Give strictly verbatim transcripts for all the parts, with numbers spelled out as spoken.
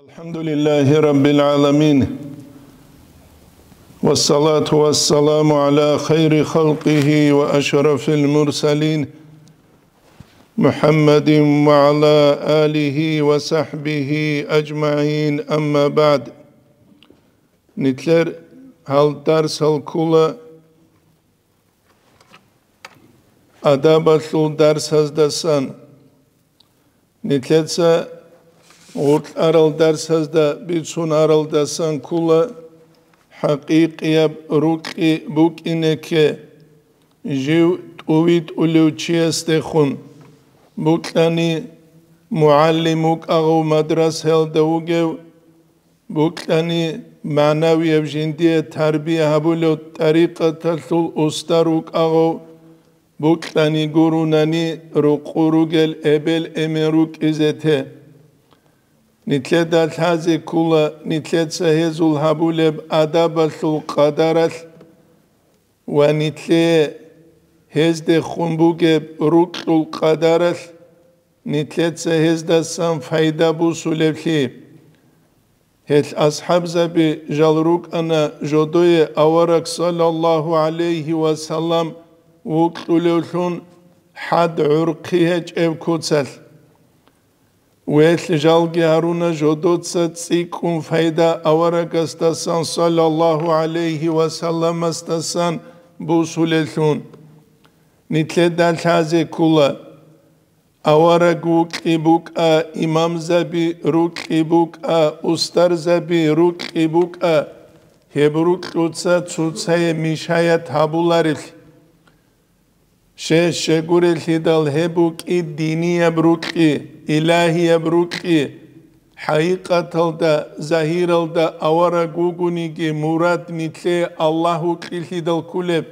الحمد لله رب العالمين، والصلاة والسلام على خير خلقه وأشرف المرسلين، محمد وعلى آله وصحبه أجمعين، أما بعد. Нилъер гьал дарсал ккола адабалъул дарсаздасан. Нилъеца гъоркьарал дарсазда бицун аралдасан ккола хӀакъикъияб рукьи букӀине кке, жив тӀувитӀулев чиясдехун, букьани мугӀалим вукӀагъав мадрасаялда вугев, букьани, магӀнавияб жиндие тарбия гьабулев тӀарикъаталъул устар вукӀагъав, букьани гурунани рукъу ругел эбел-эмен рукӀизе те. Нилъеда лъазе ккола нилъеца гьезул гьабулеб адабалъул къадаралъ ва нилъее гьездехун бугеб рукьул къадаралъ, нилъеца гьездасан пайда бусулеблъи. Гьел асхӀабзаби жал рукӀана жодое авараг саллаллагьу гӀалайгьи ва саллам вукьулевлъун хӀад гӀурхъи гьечӀеб куцалъ. Велъ жалги гьаруна жодоца цӀикӀкӀун пайда аварагасдасан саллаллагьу гӀалайгьи ва салламасдасан бусулеллъун. Нилъеда лъазе ккола. Авараг вукьи букӀа, имамзаби рукьи букӀа, устарзаби рукьи букӀа, гьеб рукьуца цоцае мешаят гьабуларелъ. Щай-щай гурелъидал гьеб букӀи динияб рукьи, илагьияб рукьи, хӀакъикъаталда, загьиралда авараг вугониги мурад нилъее Аллагь вукьилъидал кколеб.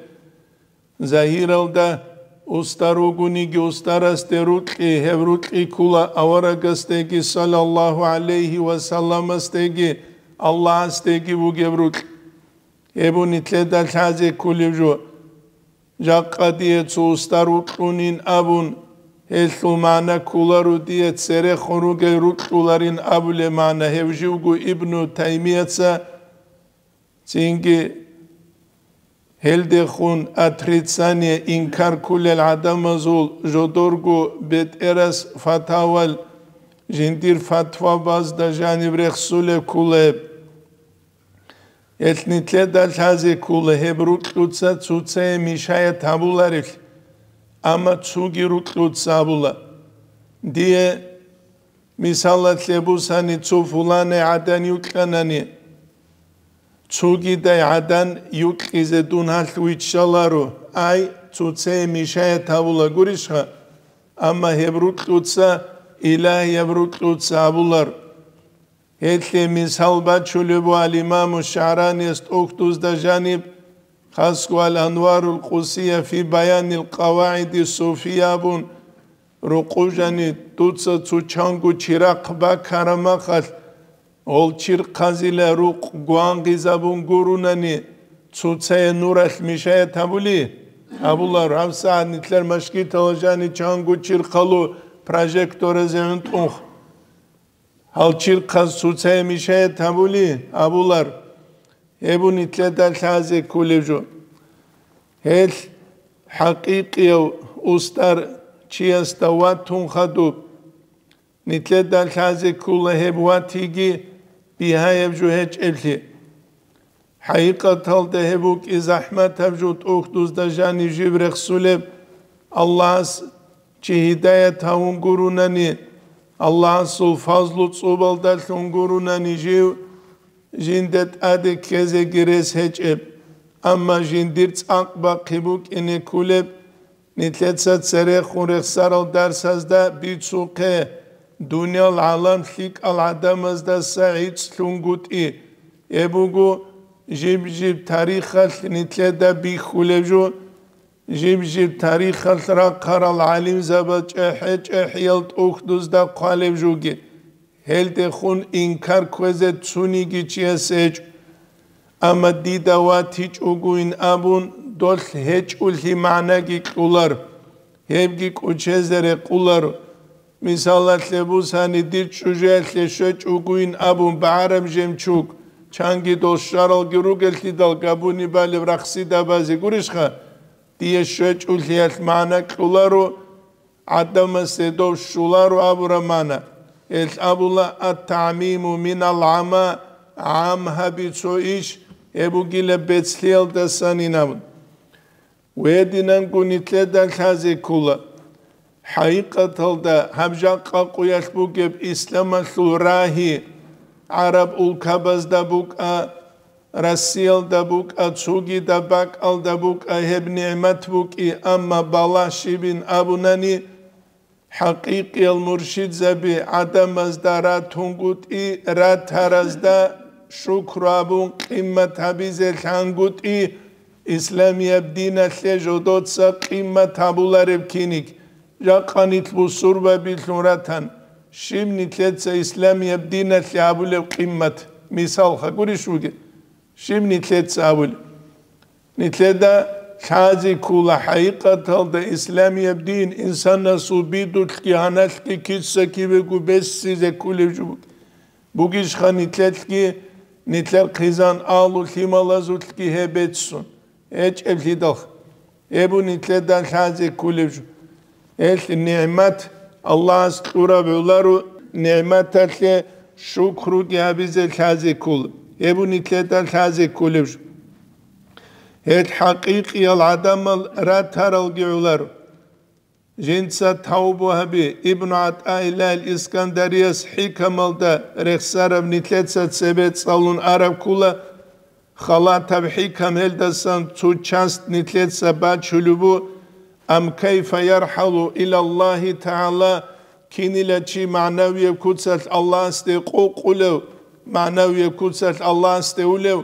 Загьиралда устар вугониги устарасде рукьи, гьеб рукьи ккола аварагасдеги, саллаллагьу гӀалайгьи ва салламасдеги, Аллагьасдеги вугеб рукь. Гьеб нилъеда лъазе кколеб жо. Жакъа дие цо устар вукьунин абун, гьелъул магӀна кколаро дие церехун ругел рукьуларин абулеб магӀна, гьев живго Ибну Таймияца Цинги гьелдехун отрицание, инкар кколел гӀадамазул жодорго бетӀерас фатавал жиндир фатвабазда жаниб рехсулеб кколеб. Гьелъ нилъеда лъазе ккола гьеб рукьуца цоцае мешаят гьабуларелъ, амма цоги рукьуца абула. Дие мисалалъе бусани, цо фуланай гӀадан юкьанани, цогидай гӀадан юкьизе дун гьалъ виччаларо, ай, цоцее мешаят гьабула гурищха, амма гьеб рукьуца, илагьияб рукьуца абулар. Гьелъе мисал бачулеб буго ал-Имаму ШагӀраниялъ тӀохьдузда жаниб, хасго ал-Анварул Къудсия фи баянил къавагӀиди суфия абун, рукъу жани, дуца цо чанго чирахъ бакараб махалъ, гьол чирхъазила рукъ гвангъизабун гурунани, цоцае нуралъ мешаят гьабули? Гьабулар, гьабсагӀат нилъер машгитала жани чанго чирхъалу прожекторазе гӀунтӀунх. Гьал чирхъаз цоцае мешаят гьабули? Гьабулар. Гьеб нилъеда лъазе кколеб жо. Гьелъ хӀакъикъияв устар чиясда ватун хадуб. Нилъеда лъазе ккола гьеб ватиги бигьаяб жо гьечӀеблъи. ХӀакъикъаталда гьеб букӀи захӀматаб жо тӀохьдузда жанив жиб рехсулеб, Аллагьас чи гьидаят гьавун гурунани, Аллагьасул фазлу цӀубалдалъун гурунани жив, жинда тӀаде ккезеги рес гьечӀеб, амма жиндир цӀакъ бахъи букӀине кколеб. Нилъеца церехун рехсарал дарсазда бицухъе, дуниял гӀалам лъикӀал гӀадамаздаса гӀицӀлъунгутӀи, гьеб буго жиб-жиб тарихалъ нилъеда бихьулеб жо, жиб-жиб тарихалъ рахъарал гӀалимзабаз чӀехӀе-чӀехӀиял тӀухьдузда хъвалеб жоги. Гьелдехун инкар кквезе цониги чиясе гьечӀо. Амма дида ватичӀогойин абун, долъ гьечӀолъи магӀнаги кьолар, гьебги кӀочезе рекъолар. Мисалалъе бусани, дир чӀужуялъе щвечӀ вугуин абун багӀараб жемчуг, чанги дол щваралги ругеллъидал габуни балеб рахсидабазе гурищха, дие щвечӀулъиялъ магӀна кьоларо, гӀадамасе дов щоларо абураб магӀна. Гьелъ абула: «Ат-тагӀмиму минал гӀама», гӀам гьаби цо иш, гьеб бугила бецлъиялдасанин абун. Гьединанго нилъеда лъазе ккола. ХӀакъикъаталда гьаб жакъа къуялъ бугеб исламалъул рагьи, гӀараб улкабазда букӀа, Россиялда букӀа, цогидаб бакӀалда букӀа, гьеб нигӀмат букӀи, амма балагь щибин абунани, хӀакъикъиял муршидзаби гӀадамазда ратунгутӀи, ратаразда шукру абун къимат гьабизе лъангутӀи, исламияб диналъе жодоца къимат гьабулареб киниг, жакъа нилъ бусурбабилъун ратан, щиб нилъеца исламияб диналъе гьабулеб къимат? Мисалха гурищ бугеб? Щиб нилъеца абулеб? Нилъеда лъазе ккола хӀакъикъаталда исламияб дин инсанасул бидулъги гьаналъги киса-кибего бессизе кколеб жо бугищха нилъелъги, нилъер хъизан агьлу лъималазулъги гьеб беццун гьечӀеблъидалха. Гьеб нилъеда лъазе кколеб жо. Гьелъ нигӀмат Аллагьас кьураб гӀоларо, нигӀматалъе шукруги гьабизе лъазе ккола. Гьеб нилъеда лъазе кколеб жо. Гьелъ хӀакъикъиял гӀадамал ратаралги гӀоларо. Жинца тавбу гьабе. Ибну ГӀатӀаиллагьил Искандарияс хӀикамалда рехсараб нилъеца цебе цӀалун араб ккола, халатаб хӀикам гьелдасан цо часть нилъеца бачулеб бу, ам кайфа ярхӀалу илаллагьи тагӀала, кинила чи магӀнавияб куцалъ Аллагьасде къокъулев, магӀнавияб куцалъ Аллагьасде улев,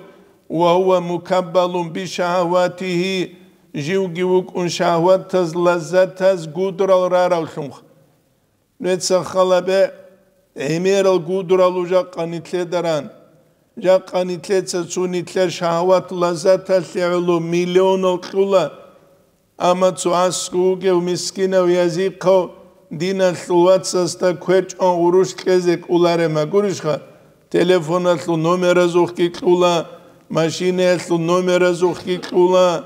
ва гьува мукаббалун бишагьаватигьи, живги вукӀун шагьватаз, лаззатаз гудрал раравлъунха. Нуеца халабе гӀемерал гудралу жакъа нилъеда ран. Жакъа нилъеца цо нилъер шагьват лаззаталъе гӀоло миллионал кьула, амма цо аскӀов вугев мискинав язихъав диналъул вацасда кверчӀван гъурущ кьезе кӀолареб магурищха? Телефоналъул номеразухъги кьула, машинаялъул номеразухъги кьула,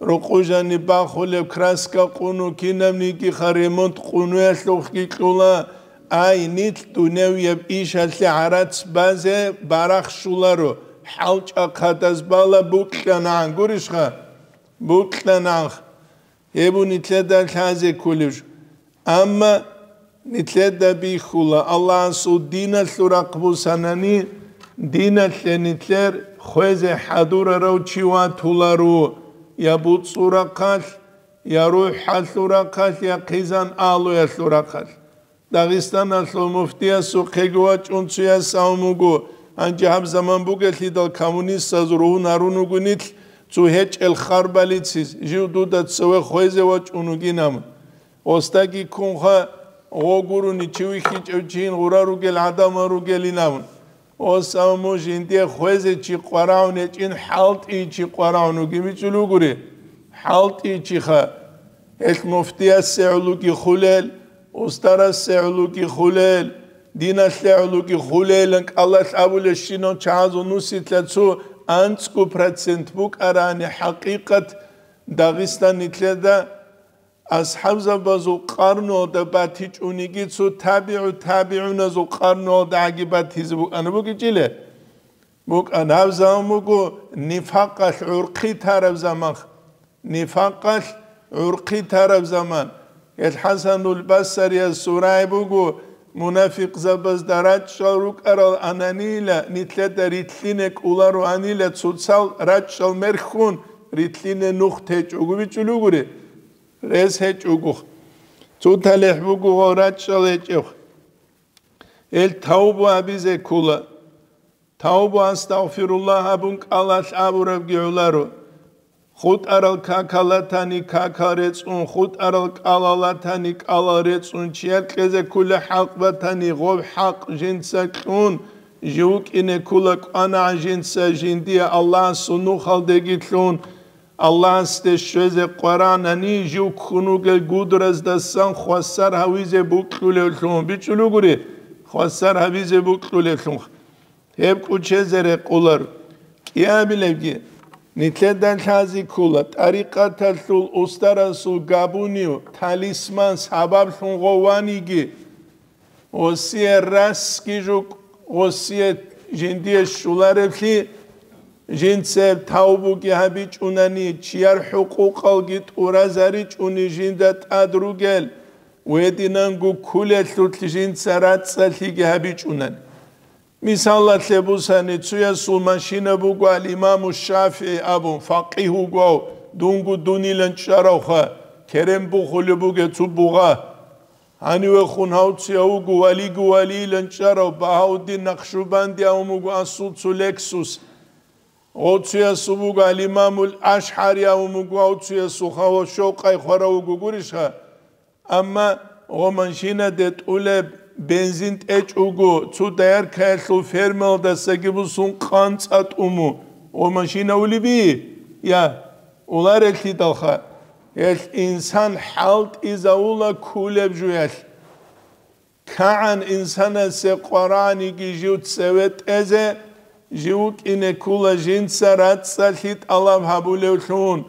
рокъо жаниб бахулеб краска къуну, кинабниги ха ремонт къунуялъухъги кьула. Ай, нилъ дуневияб ишалъе гӀарац базе барахщуларо, хӀалчӀахъадаз бала букьанагӀан гурищха? БукьанагӀан. Гьеб нилъеда лъазе кколеб жо. Амма нилъеда бихьула, Аллагьасул диналъул рахъ бусанани, диналъе нилъер хвезе хӀадурарав чи ватуларо, я буцӀцӀул рахъалъ, я рухӀалъул рахъалъ, я хъизан агьлуялъул рахъалъ. Дагъистаналъул муфтиясухъего вачӀун цояс абун буго, гьанже гьаб заман бугелъидал коммунистаз ругьун гьарун вуго нилъ цо гьечӀел хар балецин, жив дуда цеве хвезе вачӀун вугин абун. Гъосдаги ккунха, гъо гурони чи вихьичӀев чийин гъура ругел гӀадамал ругелин абун. Гъос абун муж жиндие хвезе чи къварагӀун гьечӀин, хӀалтӀи чи къварагӀун вугин бичӀчӀулев вугури. ХӀалтӀи чиха. Гьелъ муфтиясе гӀолуги хулел, устарасе гӀолуги хулел, диналъе гӀолуги хулелан кӀалалъ абулебщинал чагӀазул нусилъа цо анцӀго процент букӀарани хӀакъикъат Дагъистан нилъеда асхӀабзабазул къарнуялда батичӀониги цо табигӀу табигӀуназул къарнуялда гӀаги батизе букӀана бугичӀила. БукӀана, гьаб заман буго нифакъалъ гӀурхъи тараб заман. Нифакъалъ гӀурхъи тараб заман. Гьел ХӀасанул Басарияс сурай буго, мунафикъзабазда рачӀчӀал рукӀарал ананийила нилъеда рилълъине кӀолароанила цоцал рачӀчӀал мерхьун рилълъине нух течӀого бичӀчӀулев вугури. Рес гьечӀого. Цо талихӀ буго гъо рачӀчӀал гьечӀев. Гьел тавбу абизе ккола. Тавбу, астагъфируллагь абун кӀалалъ абурабги гӀоларо. ХутӀарал какал ратани какал рецӀун, хутӀарал кӀалал ратани кӀалал рецӀун, чияр кьезе ккула хӀакъ батани, гъоб хӀакъ жинца кьун, жив вукӀине ккула кӀванагӀан жинца, жиндие Аллагьасул нухалдеги лъун, Аллагьасде щвезе къваранани жив ккун вугел гудраздасан хвасар гьавизе букьулевлъун, бичӀчӀулугури, хвасар гьавизе букьулевлъун. Гьеб кӀучезе рекъолар. КӀиабилебги, нилъеда лъази ккола, тӀарикъаталъул устарасул габунив, талисман сабаблъун гъов ваниги, гъосие расги жукъ, гъосие жиндие щулареблъи, жинцеб тавбуги гьабичӀунани, чияр хӀукъукъалги тӀуразаричӀуни жинда тӀад ругел, гьединанго кколелъулъ жинца рацӀцӀалъиги гьабичӀунани. Мисалалъе бусани, цуясул машина буго ал-Имаму ШафигӀи абун, факъигь вуго, дунго дунилан чӀаравха, керен бухулеб бугеб цо бугъа. Гьанивехун гьав цуяв вуго валиго валиилан чӀарав Багьауддин Накъшубанди абун буго асул цо Лексус. Гъов цуясул буго ал-Имамул АшгӀари абун буго, гъов цуясул хавал щокъай хварав вуго гурищха? Амма гъо машинаде тӀулеб бензин тӀечӀого, цо дояркаялъул фермалдасаги бусун къанцӀа тӀуму, гъо машина улеби? Я, уларелъидалха, гьелъ инсан хӀалтӀизавула кколеб жуялъ. КагӀан инсанасе къвараниги жив цеве тӀезе, жив вукӀине ккула жинца рацӀцӀалъи тӀалаб гьабулевлъун.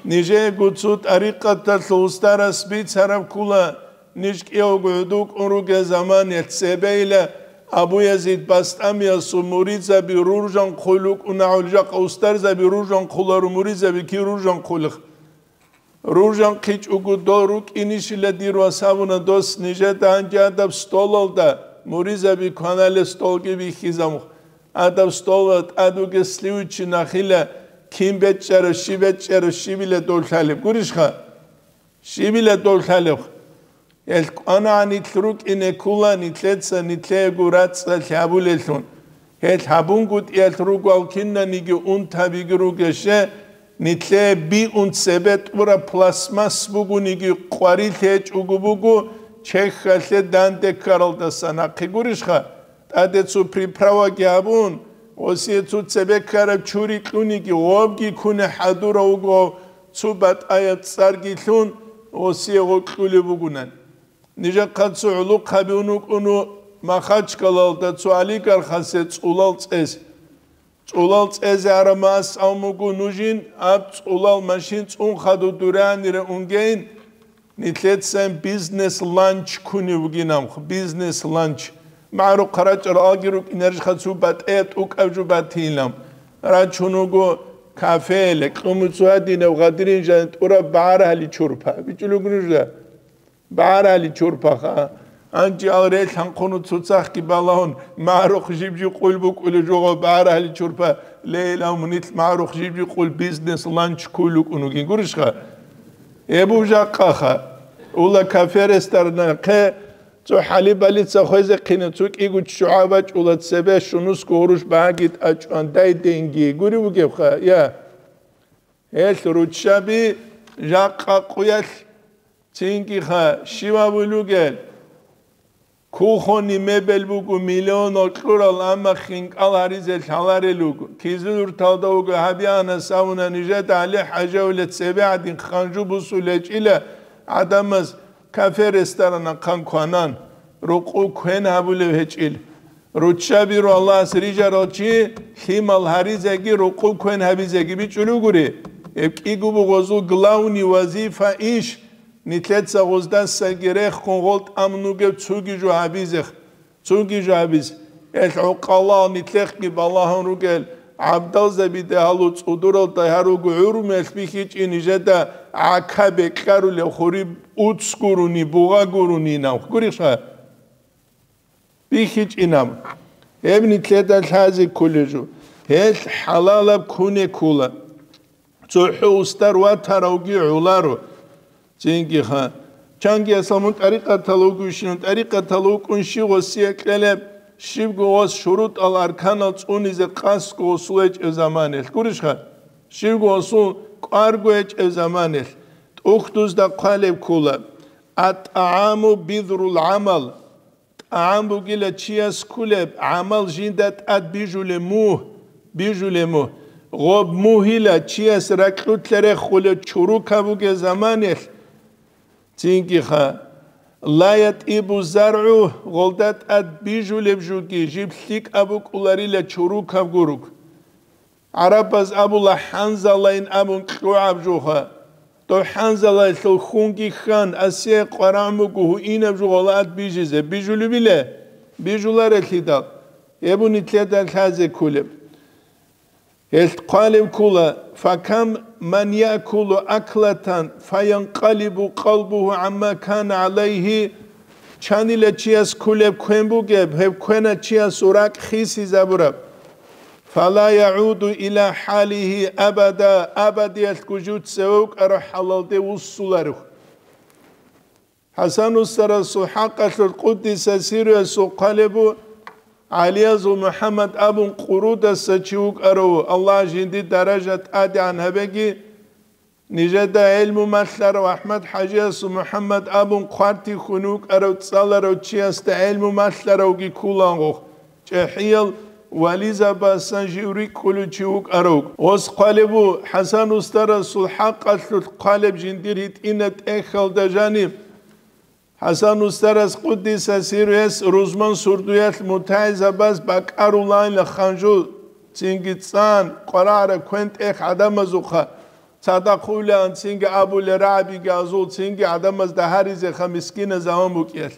Нижего цо тӀарикъаталъул устарас бицараб ккула, ниж кӀиявго гӀодов кӀун ругел заманалъ цебейила Абу Язид Бастамиясул муридзаби руржанхъул рукӀунагӀул, жакъа устарзаби руржанхъулару, муридзаби кир руржанхъулех. РуржанхъичӀого дол рукӀинищила дир вас абуна дос нижеда гьанже адаб столалда, муридзаби кваналел столги бихьизамухъ. Адаб столалда тӀад вугес сливучи нахила кин бечӀчӀараб, щиб бечӀчӀараб, щибила дов лъалеб гурищха? Щибила дов лъалеб? Гьел кӀванагӀан нилъ рукӀине ккула нилъеца нилъего рацӀцӀалъи гьабулеллъун. Гьел гьабунгутӀиялъ ругал кинаниги унтабиги ругеше, нилъее биун цебе тӀураб пластмасс бугониги къварилъи гьечӀого буго, чехьалъе данде ккаралдаса нахъе гурищха? ТӀаде цо приправаги гьабун, гъосие цо цебе ккараб чури кьуниги, гъобги ккуне хӀадурав вуго, цо батӀаяб цӀарги лъун, гъосие гъо кьулеб бугунан. Нижехъа цо гӀулухъаби ун вукӀуну Махачкалалда цо олигархасе цӀулал цӀез. ЦӀулал цӀезе араб мас авмугу нужин, аб цӀулал машин цӀун хадур дуранира унгейин, нилъецайин бизнес-ланч ккунев вугинамх, бизнес-ланч. МагӀарухъ рачӀарал алги рукӀинарищха цо батӀе тӀукӀаб жо батилам. Рачун вуго кафе, лекьумуцу гьадинав гъадирин жан тӀураб багӀарагьали чурпа. БичӀулугу нужда? БагӀарали чурпаха. Анчи ал релъанхъуну цоцахги балагьун, магӀарухъ жиб-жиб къул букӀулев жугъав багӀарали чурпа, лейла мунилъ магӀарухъ жиб-жиб къул бизнес-ланч ккулукӀун вугин гурищха? Гьеб був жакъаха. Ула кафе-ресторанахъе цо хӀалиб-балица хвезехъине цо кӀиго ччугӀа бачӀула цебе щунусго гъурущ багьаги тӀачӀван дай денги гури вугевха, я? Гьелъ руччаби жакъа къуялъ Цинги-ха, щивав вугел? Кухонный мебель буго миллионал кьурал, амма хинкӀал гьаризе лъаларел руго. Кизилюрталда вуго гьабианас авуна нижеда ГӀали-ХӀажавила цебе гӀадин ханжу бусулечӀила гӀадамаз кафе-ресторанахъан кванан, рукъу квен гьабулев гьечӀил. Руччабиру Аллагьас рижарал чи лъимал гьаризеги рукъу квен гьабизеги бичӀчӀулугури. Гьеб кӀиго бугъозул главный вазифа иш, нилъеца гъоздасаги рехун гъол тӀамун вугев цуги жо гьабизех, цуги жо гьабиз. Гьелъ гӀукъалал нилъехъги балагьун ругел гӀабдалзабида гьалу цӀудуралда гьаруго гӀурмуялъ бихьичӀин нижеда гӀака бекьарулев хури уц гуруни, бугъа гуруни нав. Гурищха? БихьичӀинаб. Гьеб нилъеда лъазе кколел жо. Гьелъ хӀалалаб ккуне ккола. ЦохӀо устар ватаравги гӀоларо. Цинги-ха. Чанги асал мун тӀарикъатал вугевщинан, тӀарикъатал вукӀун щив гъосие кьелеб, щибго гъос шурутӀал арканал цӀунизе къасго гъосул гьечӀеб заманалъ. Гурищха? Щибго гъосул кӀварго гьечӀеб заманалъ. ТӀухьдузда хъвалеб ккола. АтӀагӀаму бидгӀул гӀамал. ТӀагӀам бугила чияс кколеб, гӀамал жинда тӀад бижулеб мугь, бижулеб мугь. Гъоб мугьила чияс ракьулъа рехулев чурукаб бугеб заманалъ, цинги ха, ла ятӀибу заргӀу, гъолда тӀад бижулеб жуги жиб лъикӀаб букӀуларила чурукаб гуруг. ГӀарабаз абула хӀанзалайин абун кьугӀаб жуха. Дов хӀанзалаялъул хунги хьан, асие къварагӀ мугу гьуинаб жугъала ад бижизе. Бижулебила? Бижуларелъидал. Гьеб нилъеда лъазе кколеб. Гьелъ хъвалеб ккола: «Факам ман якулу аклатан, фаянкъалибу къалбугьу гӀамма кана гӀалайгьи». Чанила чияс кколеб квен бугеб, гьеб квена чиясул ракӀ хисизабураб. «Фала ягӀуду иля хӀалигьи абада», абадиялъго жив цеве вукӀарав хӀалалде вуссуларев. ХӀасан устарасул хӀакъалъулъ къуддиса сируясул хъвалеб бу, ГӀалиязул МухӀаммад абун къурудаса чи вукӀарав, Аллагь жиндир даража тӀадегӀан гьабеги, нижеда гӀелму малъарав АхӀмад-хӀажиясул МухӀаммад абун хъвартихьун вукӀарав цӀаларав чиясда гӀелму малъаравги ккулангох, чӀехӀиял вализабасан жив рикӀкӀулев чи вукӀарав. Гъос хъвалеб бу, ХӀасан устарасул хӀакъалъулъ хъвалеб жиндир гьитӀина тӀехьалда жаниб. ХӀасан устарас къуддиса сируяс рузман сурдуялъ мутагӀилзабаз бакӀарулайила ханжул, цинги цӀан, къварагӀараб квен тӀех гӀадамазухъа, цадахъ улаан цинги абулел рагӀабиги азул, цинги гӀадамазда гьаризеха мискиназ аван букӀиялъ.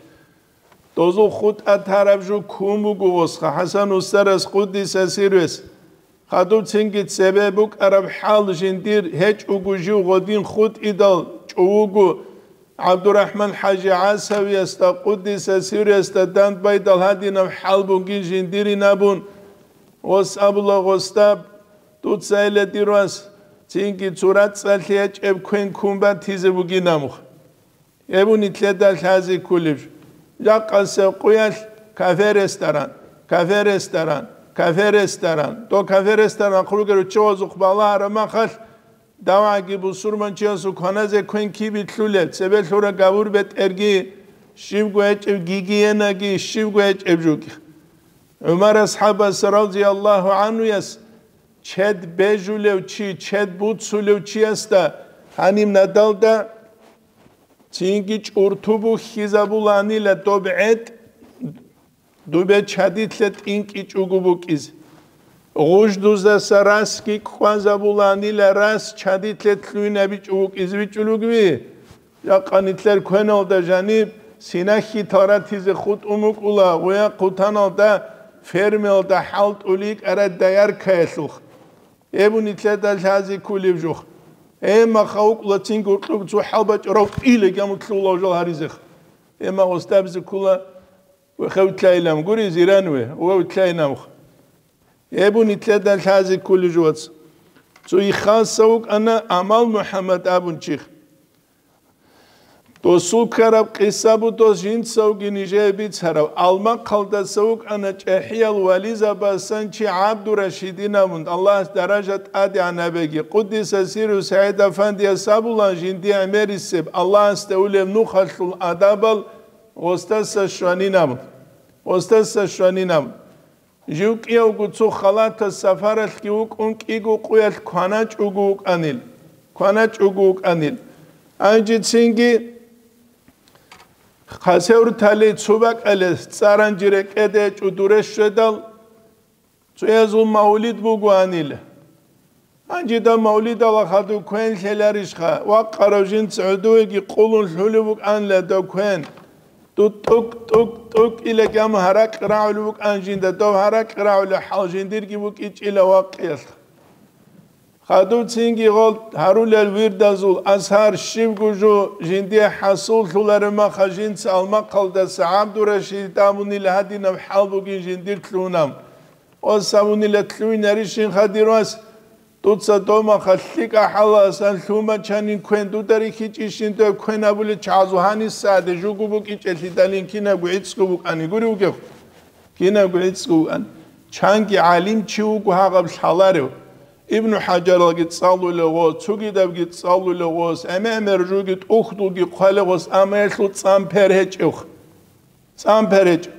Дозул хутӀа тараб жо ккун буго гъосха ХӀасан устарас къуддиса сируяс. Хадуб цинги цебе букӀараб хӀал жиндир гьечӀого жив гъодин хутӀидал чӀувуго, ГӀабдурахӀман-хӀажи ГӀасавиясда, къуддиса сируясда дандбайдал гьадинаб хӀал бугин жиндирин абун, гъос абула гъосда: «Дуца, эла дир вас, цинги цо рацӀцӀалъи гьечӀеб квен ккун батизе бугин амух». Гьеб нилъеда лъазе кколеб жо. Жакъасеб къуялъ кафе-ресторан, кафе-ресторан, кафе-ресторан. Дов кафе-ресторан хъуругел руччабазухъ балагьараб махалъ, давгӀаги бусурманчиясул кваназе квен кибе лъулеб, цебе лъура гавур бетӀерги, щибго гьечӀеб гигиенаги, щибго гьечӀеб жуги. ГӀумар асхӀабас, радияллагьу гӀанхуяс, чед бежулев чи, чед буцулев чиясда гьаниб надалда цинги чӀурту бухьизабуланила доб гӀетӀ, дубе чадилъа тӀинкӀичӀого букӀизе. Гъуждузаса расги кӀвазабуланила рас чадилъа лъугьинабичӀо букӀизе бичӀчӀулугви. Жакъа нилъер квеналда жаниб синахьи таратизе хутӀун букӀула, гъуя хъутаналда фермаялда хӀалтӀулел йикӀарай дояркаялъулъ. Гьеб нилъеда лъазе кколеб жо. Гьеб маха вукӀула цинги гьоркьоб цо хӀалбачӀарав кӀилаги амутлъула жал гьаризеха. Гьеб мах гъосда абизе ккола, вехев лъайилан гури, зиран ве, вев лъайинавха. Гьеб нилъеда лъазе кколеб жо, вац. Цо иххаса вукӀана Амал МухӀаммад абун чи. Досул ккараб къиса буго жинцавги нижее бицараб. Алмахъалдаса вукӀана чӀехӀиял вализабасан чи ГӀабдурашидин абун, Аллагьас даража тӀадегӀан гьабеги. Къуддиса сирру СагӀид-Афандияс абула, жиндие гӀемерисеб, Аллагьасде улеб нухалъул адабал гъосдаса щванин абун. Гъосдаса щванин абун. Жив кӀиявго цо халатас сапаралъги вукӀун кӀиго къуялъ кваначӀого вукӀанил, кваначӀого вукӀанил. Гьанжецинги хъасевртали цо бакӀалъе цӀаранжи рекӀеде гьечӀо дуре щведал, цоязул мавлид бугоанил. Гьанже дов мавлидалда хадув квен лъеларищха? Вакъарав жинца гӀодовеги къулун лъулев вукӀанила дов квен. Ду тӀук-тӀук-тӀук иле гьама гьаракь рагӀулев вукӀан жинда, дов гьаракь рагӀулев хӀал жиндирги букӀинчӀила вакъиялъ. Хадув цинги гъол гьарулел вирдазул азгьар щибго жо жиндие хӀасуллъулареб маха жинца Алмахъалдаса ГӀабдурашид абунила гьадинаб хӀал бугин жиндир лъугьунаб. Ос абунила лъугьинарищин хадир вас, дуца домаха лъикӀа хӀаласан лъума чанин квен дуда рихьичӀищин дой квен абулел чагӀазул гьаниса гьаде жугу букӀинчӀелъидалин кинабго гӀицӀго букӀани гури вугев? Кинабго гӀицӀго вукӀан. Чанги гӀалимчи вуго гьагъаб лъаларев. Ибну ХӀажаралги цӀалулев гъос, цогидабги цӀалулев гъос, гӀемер-гӀемер жуги тӀухьдулги хъвалев гъос, амма гьелъул цӀан пер гьечӀев. ЦӀан пер гьечӀев.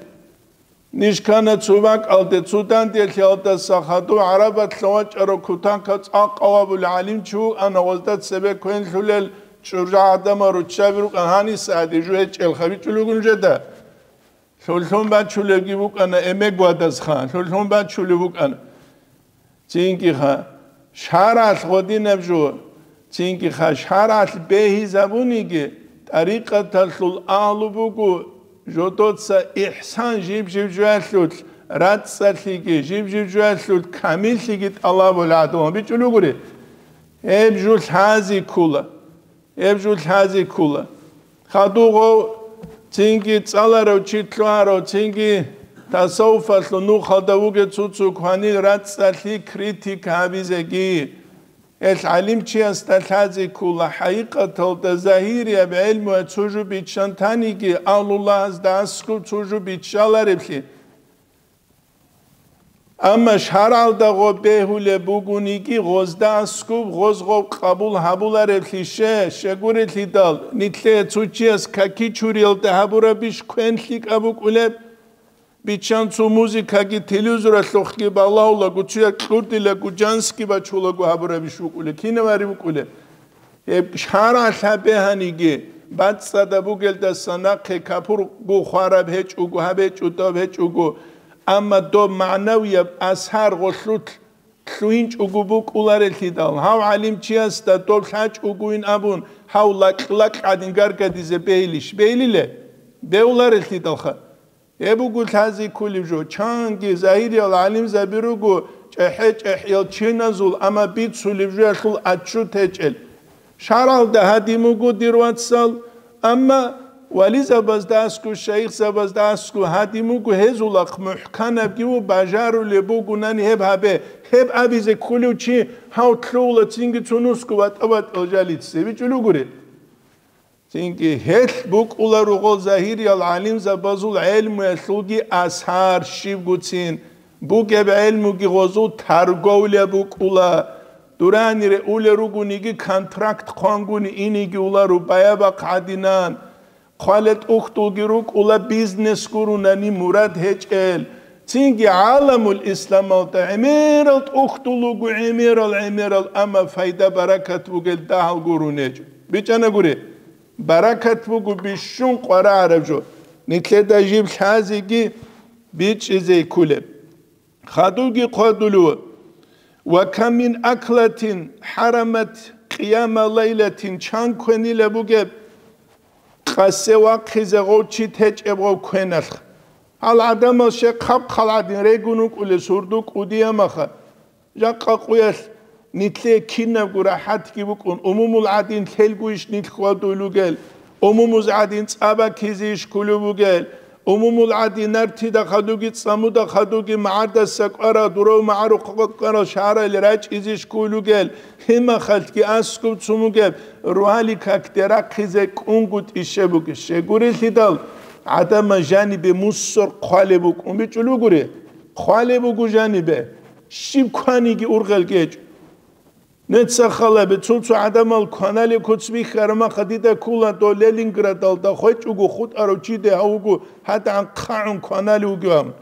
Ниж ккана цо бакӀалде, цо данделъиялдаса хадув гӀарабалъа вачӀарав кутакаб цӀакъ авабулев гӀалимчи вукӀана, гъозда цебе квенлъулел чӀужугӀадаба гӀадамал руччаби рукӀана, гьаниса гьадин жо гьечӀелха, бичӀчӀулеб бугин жеда. Лъугьун бачулебги букӀана, эмегьвадазха, лъугьун бачулеб букӀана. Цинги-ха, шаргӀалъ гъодинаб жо, цинги-ха, шаргӀалъ бегьизабуниги, тӀарикъаталъул агьлу буго, жодоца ихсан жиб-жиб жоялъулъ, рацӀцӀалъиги, жиб-жиб жоялъулъ камиллъиги тӀалабул гӀадамал бичӀчӀулел ругури. Гьеб жо лъази ккола. Гьеб жо лъази ккола. Хадув гъов цинги цӀаларав чи лъугьарав, цинги тасаввуфалъул нухалда вугев цо-цо кванил рацӀцӀалъи критика гьабизеги. Гьелъ гӀалимчиясда лъази ккола, хӀакъикъаталда загьирияб гӀелмуялъ цо жо биччан таниги, агьлуллагьазда аскӀоб цо жо биччалареблъи. Амма шаргӀалда гъоб бегьулеб бугониги, гъозда аскӀоб гъоз гъоб къабул гьабулареблъи, щегурелъидал, нилъее цо чияс каки чуриялда гьабурабищ квен лъикӀаб букӀулеб? Биччан цо музыкаги телевизоралъухъги балагьулаго, цояз кьурдилаго, жански бачулаго гьабурабищ букӀулеб, кинаб гьари букӀулеб? Гьеб шаргӀалъ гьабе гьаниги, бацӀцӀадаб бугелдаса нахъе капурго хвараб гьечӀого, гьаб гьечӀо, доб гьечӀого, амма доб магӀнавияб асар гъолъулъ лъугьинчӀого букӀуларелъидал, гьав гӀалимчиясда доб лъачӀогойин абун, гьав лакь-лакь гӀадин гаргадизе бегьилищ? Бегьилиле? Бегьуларелъидалха. Гьеб буго лъази кколеб жо, чанги загьириял гӀалимзаби руго, чӀехӀе-чӀехӀиял чиназул, амма бицулеб жоялъул отчет гьечӀел. ШаргӀалда гьадин буго, дир вацал, амма вализабазда аскӀо, шайихзабазда аскӀо гьадин буго, гьезулахъ мухӀканабги ва бажарулеб бугунани гьеб гьабе, гьеб абизе кколев чи гьав лъугьула цинги цо нусго ватӀа-ватӀал жалице, бичӀчӀулел ругури. Цинги гьелъ букӀула ругъал загьириял гӀалимзабазул гӀелмуялъулги асар, щибгоцин бугеб гӀелмуги гъозул тарговля букӀула, дуранире улел ругониги контракт хъвангуни инеги уларо баябахъ гӀадинан, хъвалел тӀухьдулги рукӀула бизнес гурунани мурад гьечӀел, цинги гӀаламул исламалда гӀемерал тӀухьдул руго, гӀемерал, гӀемерал, амма пайда-баракат бугел дагьал гурун гьечӀо. БичӀчӀана гури. Баракат буго бищун къварагӀараб жо, нилъеда жиб лъазеги бичӀчӀизе кколеб. Хадубги хъвадулев: «Ва кам мин аклатин хӀарамат къияма лайлатин», чан квенила бугеб къасе вахъизе гъов чи течӀеб гъов квеналъ. Гьал гӀадамал щай хъаб-хъал гӀадин регун вукӀулел сурду кӀудиямаха. Жакъа къуялъ нилъее кинабго рахӀатги букӀун, умумул гӀадин лъелгуйищ нилъ хьвадулел ругел, умумуз гӀадин цӀа баккизейищ кколев бугел, умумул гӀадин нартида хадуги цӀамуда хадуги магӀардаса кӀварал, дурав магӀарухъа кӀварал шагьаралде рачӀизейищ кколел ругел, гьимахалъги аскӀоб цун бугеб, рогьалил какде рахъизе кӀунгутӀище бугищ? Щегурелъидал гӀадамал жанибе мусор хъвалеб букӀун бичӀчӀулел ругури? Хъвалеб буго жанибе. Щиб кваниги ургъел гьечӀо. Нуца халабе, цо-цо гӀадамал кваналеб куц бихьарамаха, дида ккола дов Ленинградалда хвечӀого хутӀарав чиде гьав вуго, гьадигӀан хъагӀун кваналев вугев абун.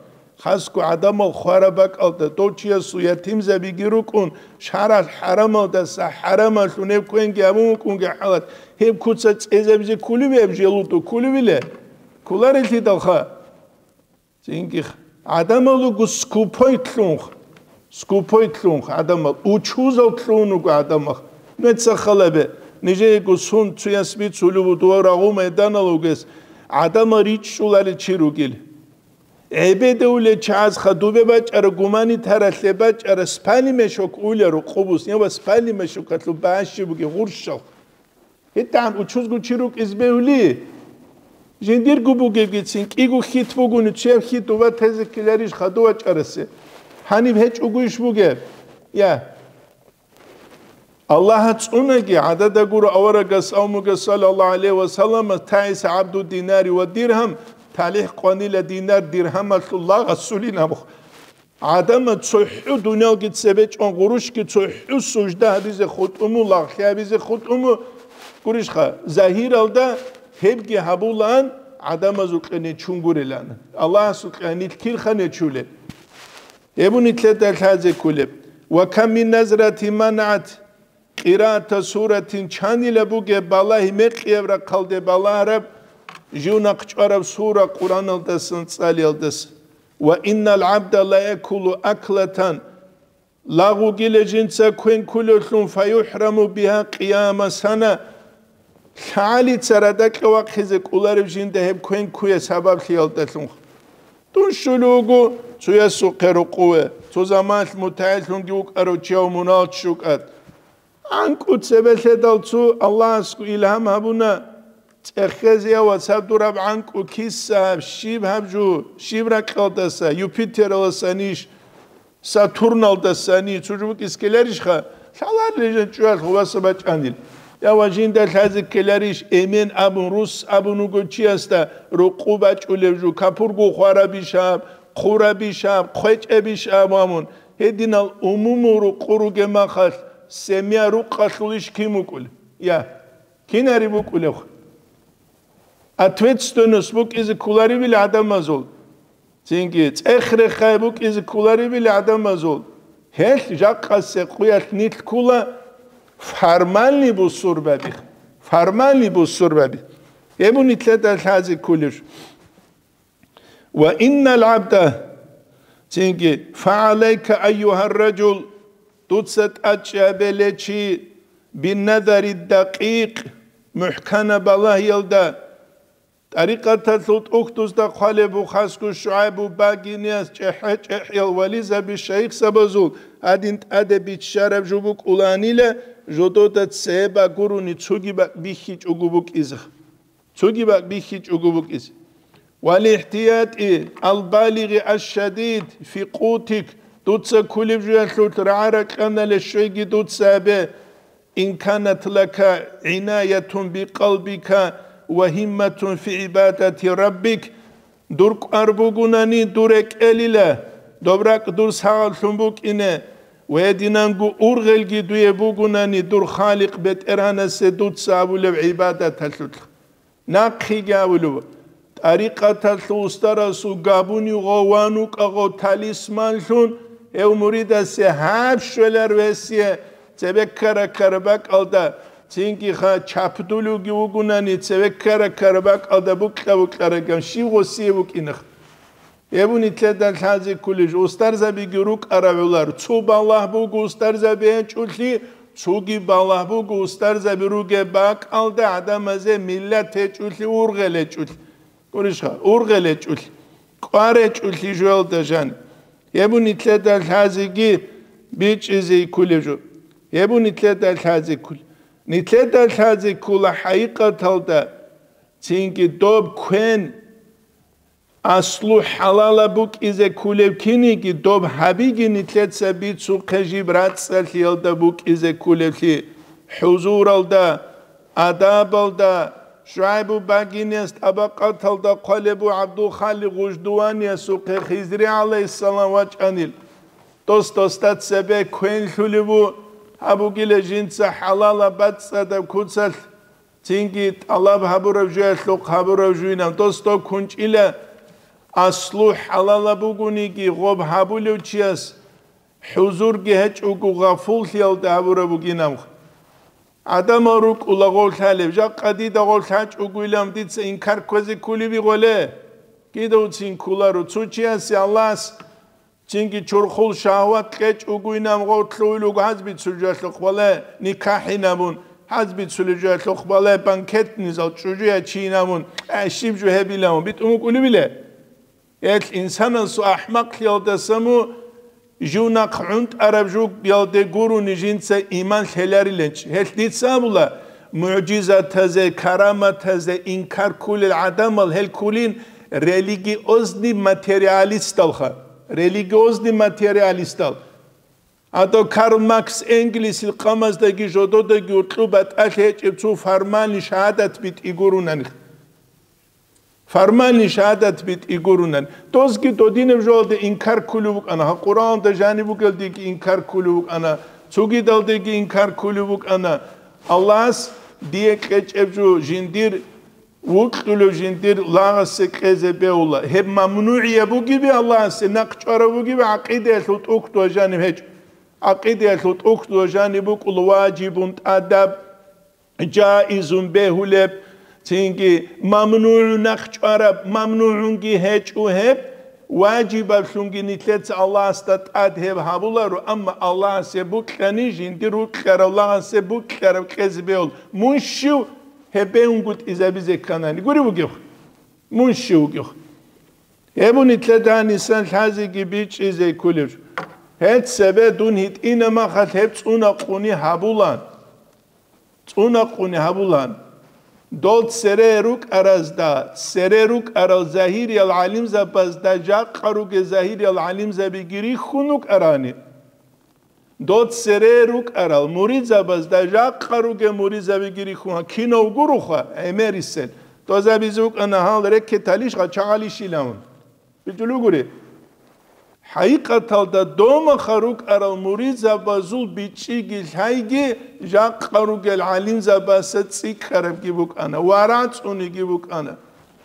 Хасго гӀадамал хвараб бакӀалда, дов чиясул ятимзабиги рукӀун, шаргӀалъ хӀарамалдаса хӀарамалъун гьеб квенги гьабун вукӀунги хӀалат, гьеб куца цӀезабизе кколевиаб желудо кколевиле? Кколарелъидалха. Цинги гӀадамал руго скупой лъунха, скупой лъунха гӀадамал, учузал лъун руго гӀадамал. Нуца халабе, нижеего сун цуяс бицулев вуго дов рагъул майданалда вугес гӀадамал ричӀчӀуларел чи ругел. ГӀебедавулел чагӀаз хадубе бачӀара, гуманитаралъе бачӀара, спальный мешок улел рукъубус, я ва спальный мешокалъул багьа щиб бугеб гъурщал. ГьитӀан учузго чи рукӀизе бегьули? Жиндирго бугебгицин, кӀиго хьит бугони, чияв хьит уба тезе ккеларищ хадув вачӀарасе? Гьаниб гьечӀогойищ бугеб? Я. Аллагьас цӀунаги, гӀадада гуро аварагас, авмугас, саллаллагьу гӀалайгьи ва саллам, «تعس عبد الدينار والدرهم», талихӀ къванила динар-диргьамалъул лагъ асулин абухъ. ГӀадамал цохӀо дуниялги цебе чӀван, гъурущги цохӀо сужда гьабизе хутӀун мун, лагълъи гьабизе хутӀун мун. Гурищха, загьиралда гьебги гьабулаан, гӀадамазул кьене чун гурелан. Аллагьасул кьанил кирха нечулел. Гьеб нилъеда лъазе кколеб. «Ва кам мин назрати манагӀат къираата суратин», чанила бугеб балагь мекъияб рахъалде балагьараб, жив нахъ чӀвараб сура Къуръаналдасан цӀалиялдаса. «Ва иннал гӀабда ла якулу аклатан», лагъугила жинца квен кколевлъун, «фаюхӀраму биха къияма сана», лъагӀалица радакьа вахъизе кӀоларев жинда гьеб квен ккуе сабаблъиялдалъун. Дун щулев вуго цоясухъе рукъуве, цо заманалъ мутагӀиллъунги вукӀарав чияв мунагьал чӀукӀад. ГӀанкӀу цебе лъедал цо Аллагьасго илгьам гьабуна, цӀехезеяв вацаб дураб гӀанкӀу киса гьаб, щиб гьаб жу, щиб ракьалдаса, Юпитераласанищ, Сатурналдасани, цо жо букӀизе ккеларищха? Лъаларила жан чӀуялъ хуласа бачӀанил. Я ва жинда лъазе ккеларищ, эмен абун, рус абун вуго чиясда рукъу бачӀулев жу, капурго хварабищ аб, хъурабищ аб, хъвечӀебищ аб вамун, гьединал умумул рукъу ругеб махалъ, семья рукъалъулищ кин вукӀулев? Я, кинари букӀулев? Ответственность букӀизе кколаребил гӀадамазул, цинги цӀех-рехай букӀизе кколаребил гӀадамазул, гьелъ жакъасеб къуялъ нилъ ккула формальный бусурбаби, формальный бусурбаби. Гьеб нилъеда лъазе кколеб жо. «Ва иннал гӀабда», цинги, «фагӀалайка, айюгьар ражул», дуца тӀадчӀабе ле чи, «бинназари дакъикъ», мухӀкана балагьиялда, тӀарикъаталъул тӀухьдузда хъвалеб Бухасго ШугӀайбу багиниялъ чӀехӀе-чӀехӀиял вализаби шайихзабазул гьадин тӀаде биччараб жо букӀуланила, жодода цебе гурони цоги бакӀ бихьичӀого букӀизе. Цоги бакӀ бихьичӀого букӀизе. «ВалихтиятӀи албалигъи ашшадид фи къутик», дуца кколеб жоялъулъ рагӀа-ракьаналъе щвейги дуца абе, «ин канат лака гӀинаятун бикъалбика ва гьимматун фи гӀибадати раббик», дур кӀвар бугунани дур рекӀелила, доб ракӀ дур сагъаблъун букӀине, ва гьединанго ургъелги дуе бугунани дур Халикъ БетӀергьанасе дуца абулеб гӀибадаталъулъ. Нахъеги абулеб, тӀарикъаталъул устарасул габуни гъов ван вукӀа гъов талисманлъун, гьев муридасе гьаб щвелар весие цебе ккара-ккара бакӀалда, цинги ха чапдулевги вугунани, цебе ккара-ккара бакӀалда букьа-букьараган щив гъосие вукӀинах. Гьеб нилъеда лъазе кколеб жо, устарзабиги рукӀарав гӀолар, цо балагь буго устарзаби гьечӀолъи, цоги балагь буго устарзаби ругеб бакӀалда гӀадамазе миллат гьечӀолъи, ургъел гьечӀолъи. Гурищха, ургъел гьечӀолъи, кӀвар гьечӀолъи жоялда жан. Гьеб нилъеда лъазеги бичӀчӀизе кколеб жо. Гьеб нилъеда лъазе кколеб. Нилъеда лъазе ккола хӀакъикъаталда, цинги доб квен аслу хӀалалаб букӀизе кколеб киниги, доб гьабиги нилъеца бицухъе жиб рацӀцӀалъиялда букӀизе кколеблъи, хӀузуралда, адабалда, ШугӀайбу багинияс тӀабакъаталда хъвалеб бу ГӀабдулхаликъ Гъуждуваниясухъе Хизри гӀалайгьиссалам вачӀанил. Дос-досда цебе квен лъулеб бу, гьабугила жинца хӀалалаб бацӀцӀадаб куцалъ. Цинги тӀалаб гьабураб жоялъухъ гьабураб жуйнаб дос доб кунчӀила, аслу хӀалалаб бугониги, гъоб гьабулев чияс хӀузурги гьечӀого гъафуллъиялда гьабураб бугинаб. ГӀадамал рукӀула гъов лъалеб, жакъа дида гъов лъачӀогойилан дица инкар кквезе кколеби гъоле? Кидавцин кколаро цо чиясе Аллагьас Цинги чурхул шагьват кьечӀого инан гъоркьуй луго гьазбицул жоялъухъ бале, никахӀинабун, гьазбицулеб жоялъухъ бале, банкетный зал чӀужу ячинабун, э, щиб жо гьебилавун битӀун вукӀулебиле? Гьелъ инсанасул ахӀмакълъиялдаса му жив нахъ гӀунтӀараб жугиялде гурони жинца иман лъелариланчи. Гьелъ дица абула, мугӀжизатазе, караматазе инкар кколел гӀадамал гьел кколин религиозный материалисталха. Религиозный материалистал. Гьадав Карл Маркс Энгельсил къамаздаги жододаги гьоркьоб батӀалъи гьечӀеб цо формальный шагьадат битӀи гурунани. Формальный шагьадат битӀи гурунани. Дозги додинаб жоялде инкар кколев вукӀана, гьа, Къуръаналда жаниб бугелдеги инкар кколев вукӀана, цогидалдеги инкар кколев вукӀана. Аллагьас дие кьечӀеб жо жиндир вукьулев жиндир лагъасе кьезе бегьула. Гьеб мамнугӀияб бугеби, Аллагьасе нахъ чӀвараб бугеби, гӀакъидаялъул тӀухьдула жаниб гьечӀо. ГӀакъидаялъул тӀухьдула жаниб букӀула важибун тӀадаб, жаизун бегьулеб, цинги мамнугӀун нахъ чӀвараб, мамнугӀунги гьечӀо гьеб, важибаблъунги нилъеца Аллагьасда тӀад гьеб гьабуларо, амма Аллагьасе букьани, жиндир вукьарав лагъасе букьараб кьезе бегьул. Мун щив гьеб бегьунгутӀи забизе кканани? Гури вугев. Мун щив вугев. Гьеб нилъеда гьанисан лъазеги бичӀчӀизе кколеб жо. Гьеб цебе дун гьитӀина махалъ гьеб цӀунахъуни гьабулан. ЦӀунахъуни гьабулан. Дол цере рукӀаразда, цере рукӀарал загьириял гӀалимзабазда, жакъа ругел загьириял гӀалимзабиги рихьун рукӀарани. Дол цере рукӀарал муридзабазда, жакъа ругел муридзабиги рихьун, кинав гуроха, гӀемерисел. Дозабизе вукӀана гьал рекеталищ, гъачагъалищилан. БичӀчӀулугури. ХӀакъикъаталда домаха рукӀарал муридзабазул бичӀчӀиги лъайги жакъа ругел гӀалимзабаса цӀикӀкӀарабги букӀана ва рацӀцӀуниги букӀана.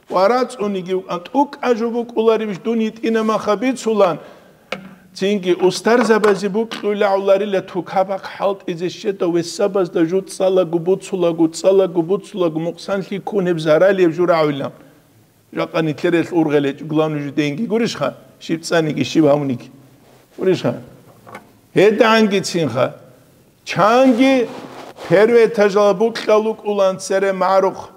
Ва рацӀцӀуниги букӀана. ТӀукӀа жо букӀуларебищ дун гьитӀина маха бицулан? Цинги устарзабазе букьула гӀоларила тукабахъ хӀалтӀизе щеда весабазда жуцӀцӀалаго буцулаго, цӀалаго буцулаго мукъсанлъи ккун гьеб заралияб жо рагӀула. Жакъа нилъерелъ ургъел гьечӀо, главный жо денги гурищха, щиб цӀаниги, щиб гьавниги. Гурищха? ГьедагӀангицинха. Чанги первый этажал букьал вукӀулан цере магӀарухъ,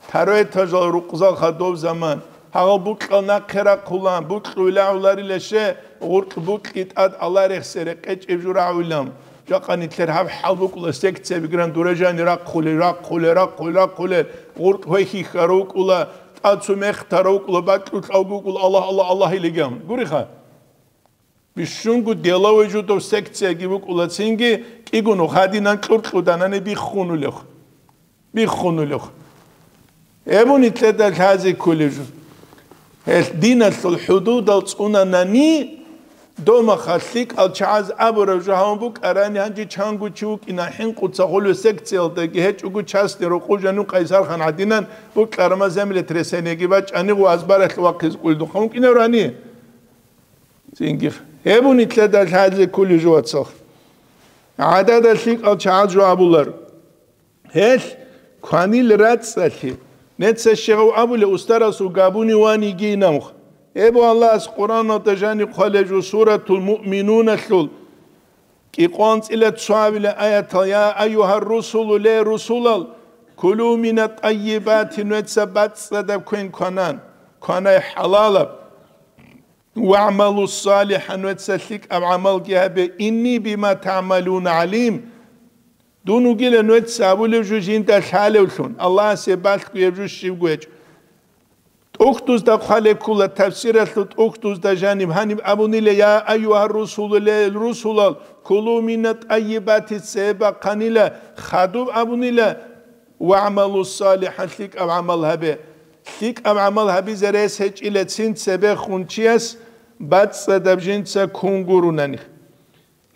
второй этажал рукъзал хадуб заман. Гьагъал букьал нахъе рахъулан, букьула гӀоларила ще, гъуркь букьи тӀад аларехсере къечӀеб жо рагӀулан. Жакъа нилъер гьаб хӀал букӀула, секциябигран дуражани рахъулел, рахъулел, рахъулел, рахъулел, гъуркь гьвехьихьарав вукӀула, тӀад цо мехтарав вукӀула, бакьулъ авги вукӀула, Аллагь, Аллагь, Аллагь илиган. Гуриха? Бищунго деловой жудов секцияги букӀула, цинги кӀигун гьадинан кьуркьуданани биххунулев. Биххунулев. Гьеб нилъеда лъазе кколеб жо. Гьелъ диналъул хӀудудал цӀунанани, домаха лъикӀал чагӀаз абураб жо гьавун букӀарани, гьанже чанго чи вукӀина хӀинкъуца хулев секциялдаги гьечӀого частный рокъов жанив Къайсархан гӀадинан букьарама землетрясениеги бачӀани гъуазбаралъ вахъизе кколдухъан вукӀинарани. Цинги гьеб нилъеда лъазе кколеб жо, вацал. ГӀадада лъикӀал чагӀаз жо абулар. Гьелъ кванил рацӀцӀалъи. Неца щегъав абулев устарасул габуни ваниги инамх. Эбу Аллагьас Къуръаналда жани хъвалеб жо Суратул Муъминуналъул кӀикъоялда цоабилеб аятал: «Я айюгьар русулу, ле русулал, кулу мина тӀаййибати, нуеца бацӀцӀадаб квен кванан, кванай хӀалалаб». «ВагӀмалу салихӀан», нуеца лъикӀаб гӀамалги гьабе, «инни бима тагӀмалуна гӀалим». Дун вугила нуеца абулев жо жинда лъалевлъун, Аллагьасе балъго гьеб жо щибго гьечӀо. ТӀухьдузда хъвалеб ккола, тафсиралъул тӀухьдузда жаниб гьаниб абунила: «Я айюгьар русулу, ле русулал, кулу мина тӀаййибати», цебе бахъанила, хадуб абунила: «ВагӀмалу салихӀан», лъикӀаб гӀамал гьабе. ЛъикӀаб гӀамал гьабизе рес гьечӀила цин цебехун чияс бацӀцӀадаб жинца ккун гурони.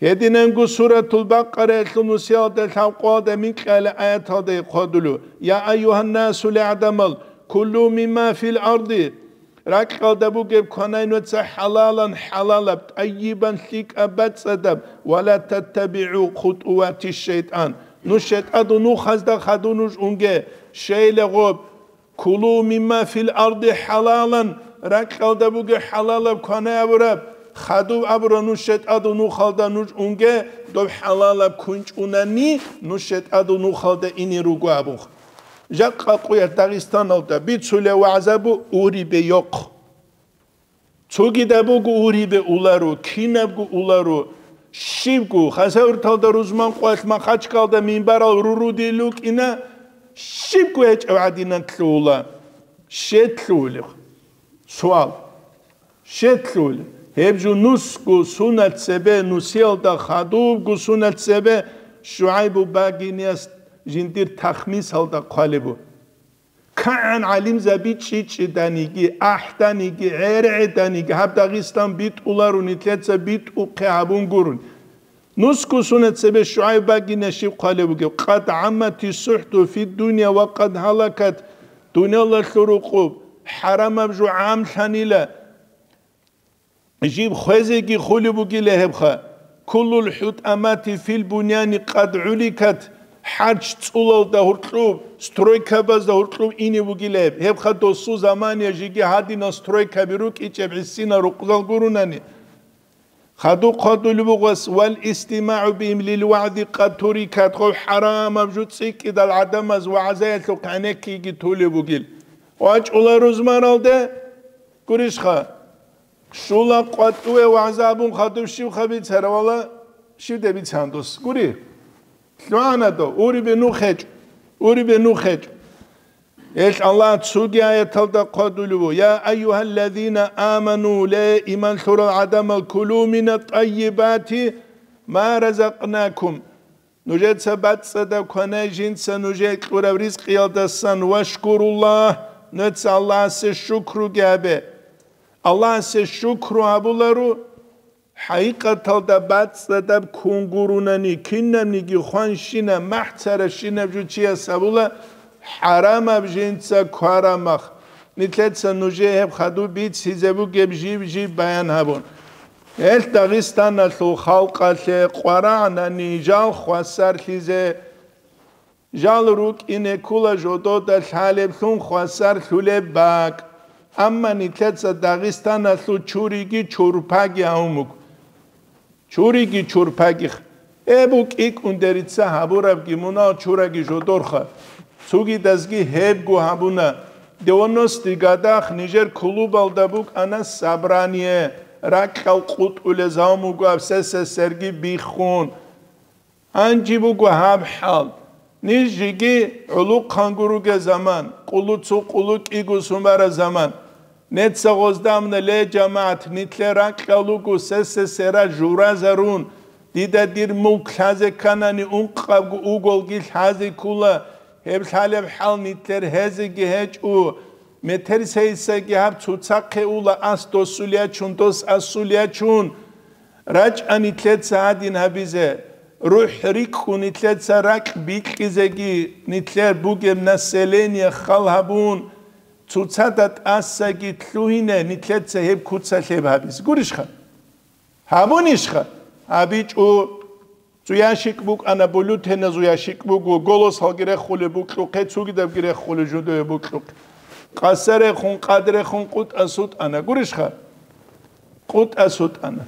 Гьединанго Суратул Бакъараялъул нусиялда лъабкъоялда микьала аяталда хъвадулев: «Я айюгьаннасу», ле гӀадамал, «кулу мимма фил арди», ракьалда бугеб кванай нуеца хӀалалан, хӀалалаб, тӀайибан, лъикӀаб, бацӀцӀадаб, «ва ла таттабигӀу хутӀувати шайтӀан», нуж шайтӀадул нухазда хадув нуж унге, щайила гъоб, «Кулу мимма фил арди хӀалалан», ракьалда бугеб хӀалалаб кванай абураб, хадуб абура нуж шайтӀадул нухалда нуж унге, доб хӀалалаб кунчӀунани нуж шайтӀадул нухалда ине руго абун. Жакъа къоялъ Дагъистаналда бицулеб вагӀзабу урибе йохъ. Цогидаб буго урибе уларо, кинабго уларо, щибго, Хасавюрталда рузман къвалъ Махачкалда минбарал рурудил рукӀина, щибго гьечӀеб гӀадинан лъугьула. Щед лъугьулеб? Суал. Щед лъугьулеб? Гьеб жо нусго сунат цебе, нусиялда хадубго сунат цебе ШугӀайбу багинияс жиндир тахмисалда хъвалебу. КигӀан гӀалимзаби чӀичӀчӀиданиги, ахӀданиги, гӀергӀеданиги гьаб Дагъистан битӀуларо, нилъеца битӀухъе гьабун гурони. Нусго сунат цебе ШугӀайб багина щиб хъвалеб бугеб: «Къад гӀаммати сухӀту фид дунья ва къад гьалакат Дуниялалъул рукъуб, хӀарамаб жо гӀамлъанила, жиб хвезеги хулеб бугила гьебха. Куллул хӀутӀамати фил буняни къад гӀуликат, хӀарч цӀулалда гьуркьуб, стройкабазда гьуркьуб ине бугила гьеб. Гьебха досу замания жиги гьадинал стройкаби рукӀичӀеб гӀисина рукъзал гурунани. Хадуб хъвадулеб бугас, вал истимагӀу бихим лил вагӀзи къад турикат, гъов хӀарамаб жо цӀикӀкӀидал гӀадамаз вагӀзаялъухъ гӀенеккиги тулеб бугил. ВачӀула рузмаралде, гурищха, щула къватӀиве вагӀза абун хадуб щибха бицаравала, щибде бицан дос, гури? ЛъугӀана дов, урибе нух гьечӀо, урибе нух гьечӀо. Гьелъ Аллагь цоги аяталда хъвадулев: «Я айюгьаллазина аману», ле, иман лъурал гӀадамал, «кулу мина тӀайибати ма разакънакум», нужеца бацӀцӀадаб кванай жинца нужее кьураб ризкъиялдасан, «вашкуруллагь», нужеца Аллагьасе шукруги гьабе. Аллагьасе шукру гьабуларо, ХӀакъикъаталда бацӀцӀадаб ккун гурунани, кинабниги хванщина, махӀцаращинаб жо чияс гьабула хӀарамаб жинца кварамах. Нилъеца нужее гьеб хадуб бицизе бугеб жиб-жиб баян гьабун. Гьелъ Дагъистаналъул халкъалъе къварагӀнани жал хвасарлъизе, жал рукӀине ккола жодода лъалеблъун хвасарлъулеб бакӀ. Амма нилъеца Дагъистаналъул чуриги чурпаги гьавун буго. Чуриги чурпагих. Эбу кӀикӀун дерица гьабурабги мунал чураги жодорха. Цугидазги гьебго гьабуна. Девяностый годах нижер клубалда букӀана собрание, ракьал къутӀулез гьавун буго СССР-ги биххун. Гьанже буго гьаб хӀал. Ниж жеги гӀулухъанго ругел заман, къулу цо къулу кӀиго сумара заман. Неца гъоздамна, ле, жамагӀат, нилъер ракьал руго СССР-а журазарун, дида дир мулк лъазе кканани ункъабго уголги лъазе ккула, гьеб лъалеб хӀал нилъер гьезеги гьечӀо. Метер сейсаги гьаб цоцахъе ула, ас досулячун, дос асулячун. РачӀа нилъеца гьадин гьабизе, рухӀ рикӀкӀун нилъеца ракь бикьизеги, нилъер бугеб население хал гьабун, цоцазда тӀасаги лъугьине нилъеца гьеб куцалъеб гьабизе. Гурищха? Гьабунищха? ГьабичӀо. Цо ящик букӀана, бюллетеназул ящик буго, Голосалги рехулеб букьухъе, цогидабги рехулеб жодое букьухъе. Къаса рехун, къад рехун, къутӀа сутӀана. Гурищха? КъутӀа сутӀана.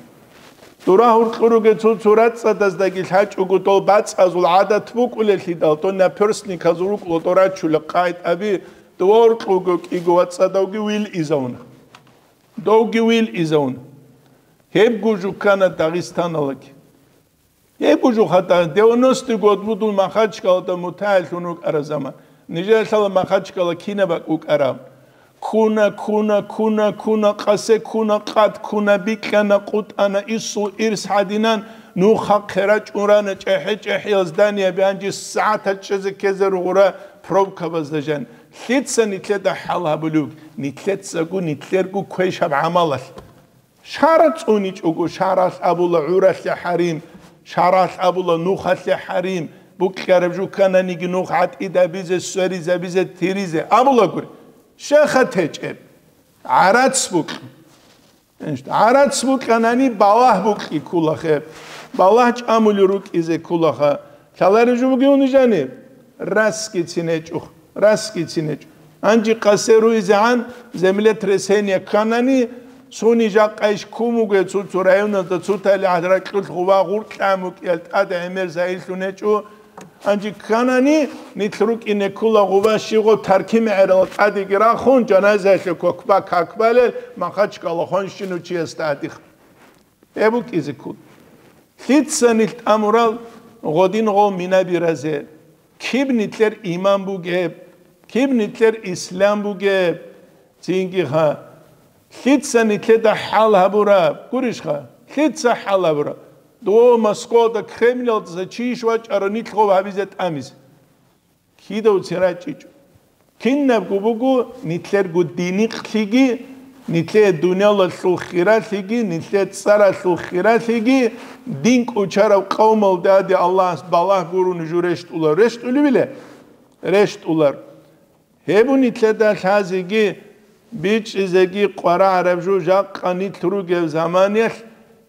Дура гьуркьуруге цо-цо рацӀцӀадаздаги лъачӀого дол бацӀазул гӀадат букӀулеллъидал, дол наперстниказул рукӀула дол рачула къайтӀаби, дова гьуркьуго кӀиго вацӀцӀадавги вил изавуна. Довги вил изавуна. Гьебго жуккана Дагъистаналаги. Гьебго жуха Дагъ-, девяностый год будул Махачкалада мутагӀиллъун рукӀараб заман. Нижер лъала Махачкала кинаб бакӀ букӀараб. Ккуна, ккуна, ккуна, ккуна, къасе ккуна, къад ккуна, бикьана, къутӀана, исул ирс гьадинан, нухахъе рачӀун рана, чӀехӀе-чӀехӀиял зданияб гьанже сагӀатал чӀезе ккезе ругъура пробкабазда жан. Лъица нилъеда хӀал гьабулев? Нилъецаго, нилъерго квешаб гӀамалалъ. Шара цӀуничӀого, шаралъ абула гӀуралъе хӀарим, шаралъ абула нухалъе хӀарим, букьараб жукананиги нух гӀатӀидабизе, сверизабизе, тиризе абулагури. Щеха течӀеб. ГӀарац букь. ГӀарац букьанани балагь букьи ккулахъе. Балагь чӀамули рукӀизе ккулаха. Лъалареб жо бугевни жаниб? Расги цинечӀо, расги цинечӀо. Гьанже къасе руизегӀан землетрясение кканани, цуни жакъа иш ккун буго цо-цо районазда, цо талихӀ ракьулъ гъува гъуркьа мукӀиял тӀад гӀемер загьирлъун гьечӀо. Гьанже кканани, нилъ рукӀине ккула гъува щигъо таркимегӀерал тӀадеги рахун, жаназаялъе кокба какбалел Махачкала хонщинав чиясда гьадихъ. Гьеб букӀизе ккун. Лъица нилъ тӀамурал гъодин гъов минаби разе? Киб нилъер иман бугеб? Киб нилъер ислам бугеб? Цинги ха. Лъица нилъеда хӀал гьабураб? Гурищха? Лъица хӀал гьабураб? Дов Москвада Кремлалдаса чи иш вачӀара нилъ гъов гьабизе тӀамизе? Кидавцин рачӀичӀо. Кинабго буго нилъерго диникълъиги, нилъее дуниялалъул хиралъиги, нилъее цӀаралъул хиралъиги, дин кӀочарав къавмалдаде Аллагьас балагь гурони жо рещтӀулар. РещтӀулевиле? РещтӀулар. Гьеб нилъеда лъазеги, бичӀчӀизеги къварагӀараб жо жакъа нилъ ругеб заманалъ,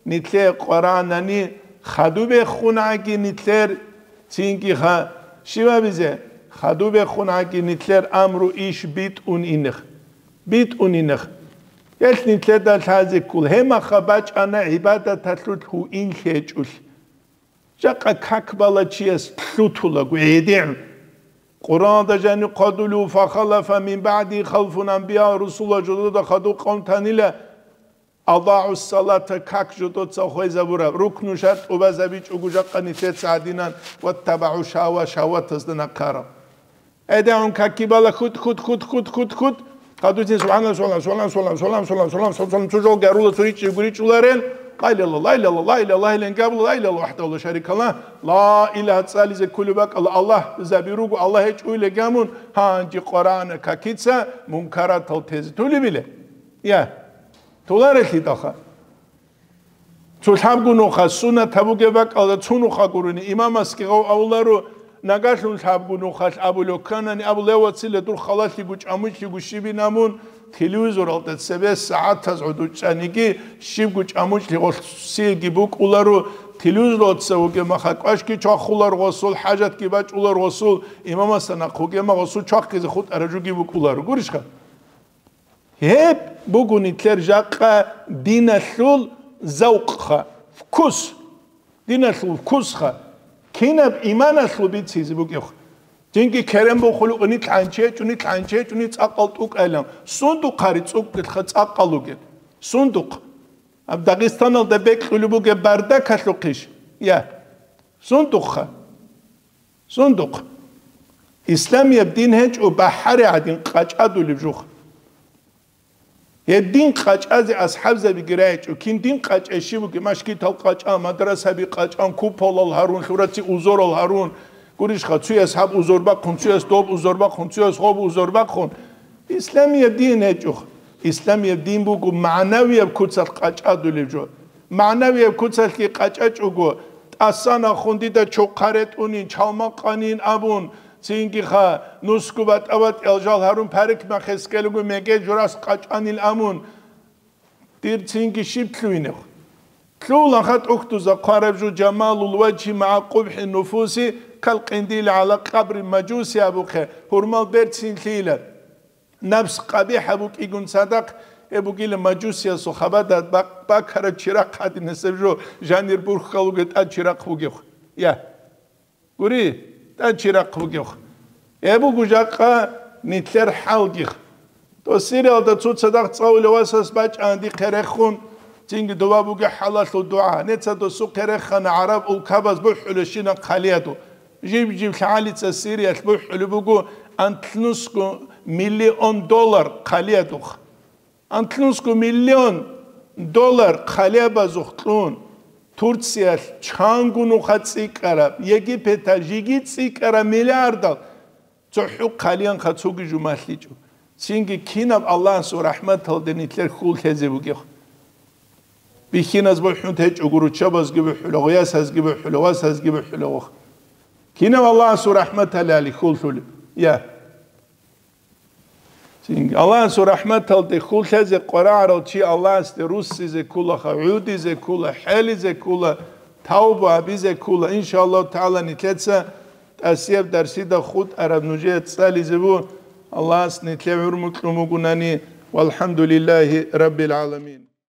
нилъее къварагӀанани, хадуб бехунагӀаги нилъер, цинги ха-, щибабизе, хадуб бехунагӀаги нилъер амру иш битӀун инех. БитӀун инех. Гьелъ нилъеда лъазе ккол, гьемаха бачӀана гӀибадаталъулъ гьуинлъи гьечӀолъи. Жакъа как бала чияс лъутулаго гӀедегӀун. Къуръаналда жаниб хъвадулев: «Фахалафа мин баъди халфун», анбия-русулал жодода хадуб къавм танила, «адагӀу салата», как жодоца хвезабураб, рукну шартӀ тӀубазабичӀого жакъа нилъеца гьадинан, «ваттабагӀу шагьава», шагьватазда нахъараб. ГӀедегӀун каки бала хут, хут, хут, хут, хут, хут. Хадуцин субхӀаналлагь, субхӀаналлагь, субхӀаналлагь, субхӀаналлагь, субхӀаналлагь, субхӀаналлагь, субхӀаналлагь, субхӀаналлагь, цо жо гьарула, цо ричӀчӀи гуричӀуларел. Ла илагьа, ла илагьа, ла илагьа, ла илагьа, ла илагьа, ла илагьа, вахӀдагьу ла шарика лагь. Ла илагьа цӀализе кколеб бакӀалда Аллагь заби руго, Аллагь гьечӀо илеги гьамун, гьанже къварагӀана какица мункаратал тезе тулебила. Я, туларелъидалха. Цо лъабго нуха сунат гьабуге бакӀалда цо нуха гурони, имамасги гъав авуларо, нагалъун лъабго нухалъ абулев кканани, абулев: «Вацила, дур халалъиго чӀамулъиго щибин абун, телевизоралда цебе сагӀатаз гӀодов чӀаниги, щибго чӀамулъи гъосиеги букӀуларо, телевизоралда цеве вугемаха кӀвашги чвахулар гъосул, хӀажатги бачӀулар гъосул, имамасда нахъ вугема гъосул чвахизе хутӀараб жоги букӀуларо». Гурищха? Гьеб буго нилъер жакъа диналъул завкъха, вкус. Диналъул вкусха. Кинаб иманалъул бицизе бугебха. Цинги керен бухулев, нилъ гӀанчи гьечӀо, нилъ гӀанчи гьечӀо, нилъ цӀакъал тӀукӀайилан. Сундухъ гьари цӀукӀкӀелха цӀакъал ругел. Сундухъ. Гьаб Дагъистаналда бекьулеб бугеб бардакалъухъищ? Я. Сундухъха. Сундухъ. Исламияб дин гьечӀо бахӀари гӀадин къачӀадулеб жух. Гьеб дин къачӀазе асхӀабзабиги рагӀичӀо, кин дин къачӀай щиб бугеб, мажгитал къачӀан, мадрасаби къачӀан, куполал гьарун, лъураци узорал гьарун, гурищха, цуяс гьаб узор бахъун, цуяс доб узор бахъун, цуяс гъоб узор бахъун. Исламияб дин гьечӀо. Исламияб дин буго магӀнавияб куцалъ къачӀадулеб жо. МагӀнавияб куцалъги къачӀачӀого, тӀасан ахун дида чохъа ретӀунин, чалма къанин абун, цинги ха, нусго батӀа-батӀиял жал гьарун, парикмахьес ккелего мегел журас къачӀанил амун, дир цинги щиб лъугьинев? Лъугьула ха тӀухьдуза хъвараб жо: «Жамалул важгьи магӀа къубхӀи нуфуси кал къиндили гӀала къабри мажуси», абухъе, гьурмал берцинлъийилан. Напс къабихӀаб букӀигун цадахъ, гьеб бугила мажусиясул хабада бак-, бакараб чирахъ гьадинасеб жо, жанир бурхьал вугев тӀад чирахъ вугев. Я. Гури, тӀад чирахъ вугев. Гьеб буго жакъа нилъер хӀалги. Дос Сириялда цо цадахъ цӀалулев васас бачӀана дихъе рехун, цинги дова бугеб хӀалалъул дугӀа. Неца досухъе рехана гӀараб улкабаз бухӀулебщинаб хъалиядул. Жиб-жиб лъагӀалица Сириялъ бухӀулеб буго анлънусго миллион доллар хъалиядухъ. Анлънусго миллион доллар хъалиябазухъ кьун, Турциялъ чанго нуха цӀикӀкӀараб, Египеталъ жеги цӀикӀкӀараб миллиардал цохӀо хъалиянха цоги жо малъичӀо. Цинги кинаб Аллагьасул рахӀматалде нилъер хьул лъезе бугеб? Бихьиназ бухӀун течӀого, руччабазги бухӀула, гъоясазги бухӀула, васазги бухӀула вохъ. Кинав Аллагьасул рахӀматалали хьул лъулеб? Я. Цинги Аллагьасул рахӀматалде хьул лъезе къварагӀарал чи Аллагьасде руссизе кколаха, гӀудизе ккола, хӀелизе ккола, тавба гьабизе ккола. Иншааллагьу тагӀала, нилъеца тӀасияб дарсида хутӀараб нужее цӀализе буго. Аллагьас нилъее гӀумру кьун бугунани. ВалхӀамдулиллагьи раббил гӀаламин.